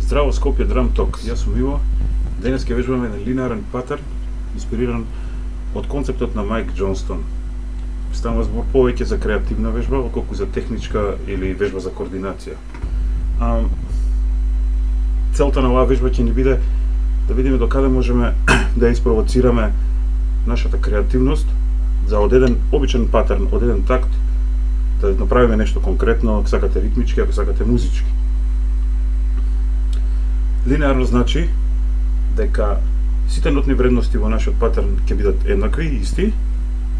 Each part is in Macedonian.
Здраво Скопје Драм Ток. Јас сум Иво. Денес ќе вежбаме еден линеарен патерн, инспириран од концептот на Майк Џонстон. Станува збор повеќе за креативна вежба, отколку за техничка или вежба за координација. Целта на оваа вежба ќе ни биде да видиме докаде можеме да испровоцираме нашата креативност за од еден обичен патерн, од еден такт, да направиме нешто конкретно, ако сакате ритмички, ако сакате музички. Линеарно значи дека сите нотни вредности во нашиот патерн ќе бидат еднакви и исти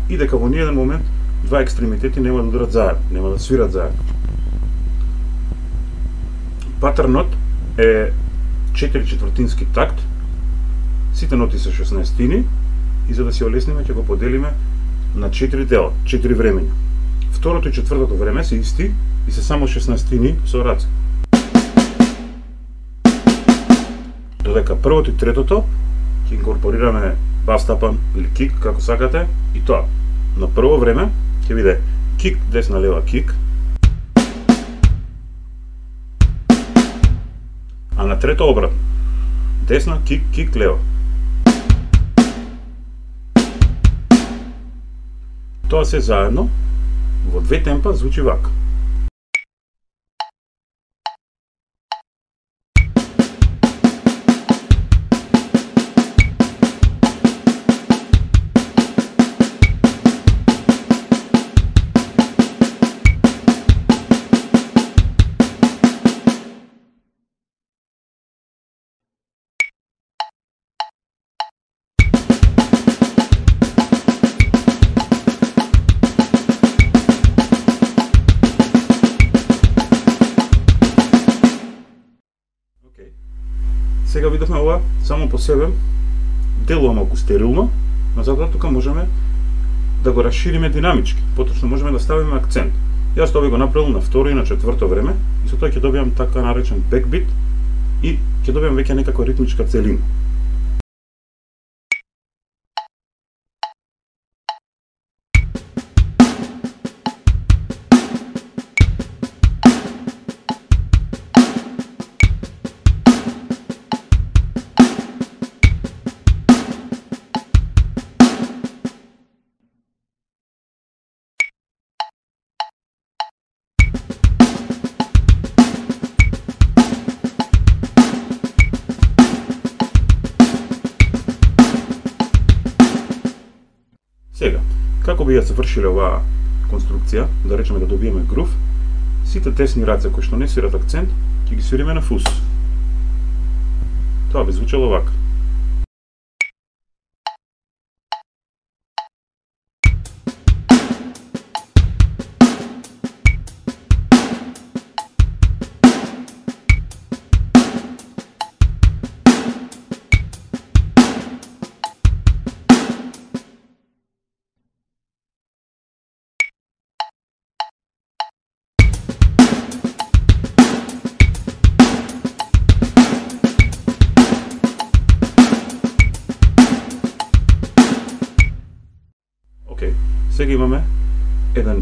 и дека во ниеден момент два екстремитети нема да ударат заедно, нема да свират заедно. Патернот е 4/4 такт, сите ноти се 16-тини и за да се олесниме ќе го поделиме на 4 дела, 4 времења. Второто и четвртото време се исти и се само 16-тини со раце. Додека првото и третото ќе инкорпорираме бас тапан или кик, како сакате, и тоа. На прво време ќе биде кик, десна, лева, кик. А на трето обратно. Десна, кик, кик, лева. Тоа се заедно во две темпа звучи вака. Сега видовме ова само по себе, делува малку стерилно, но затоа тука можеме да го расшириме динамички, поточно можеме да ставиме акцент. Јас тоа би го направил на второ и на четврто време и со тоа ќе добиам така наречен бекбит и ќе добиам веќе некаква ритмичка целина. Сега, како би ја завршиле оваа конструкција, да речеме да добиеме грув, сите тесни раце кои што не свират акцент, ќе ги свириме на фус. Тоа би звучало вака. Сега имаме еден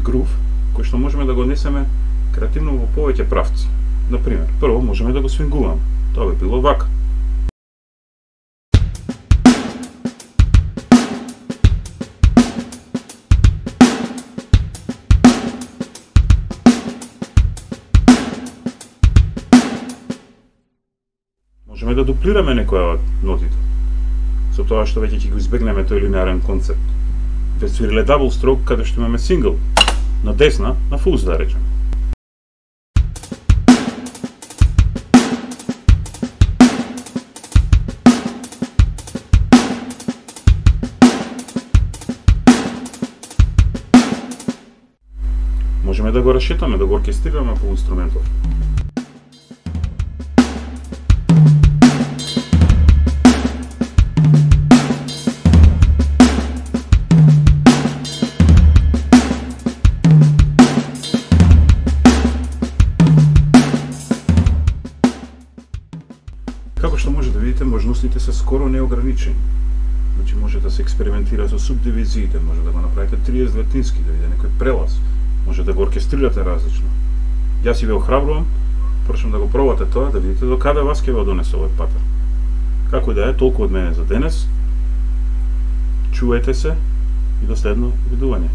грув кој што можеме да го однесеме креативно во повеќе правци. Например, прво можеме да го свингуваме. Тоа би било вака. Можеме да дуплираме некоја од нотите, со тоа што веќе ќе го избегнеме тој линеарен концепт. Ве свириле дабл строк каде што имаме сингл, на десна, на фус да речем. Можеме да го расшетаме, да го оркестрираме по инструментов. Како што може да видите, можностите се скоро неограничени. Значи може да се експериментира со субдивизиите, може да го направите 30-20-тински, да видите некој прелаз, може да го оркестрирате различно. Јас и ве охрабрувам, прашам да го пробате тоа, да видите до каде вас ќе го донесе овој патер. Како и да е, толку од мене за денес. Чувајте се и до следно видување.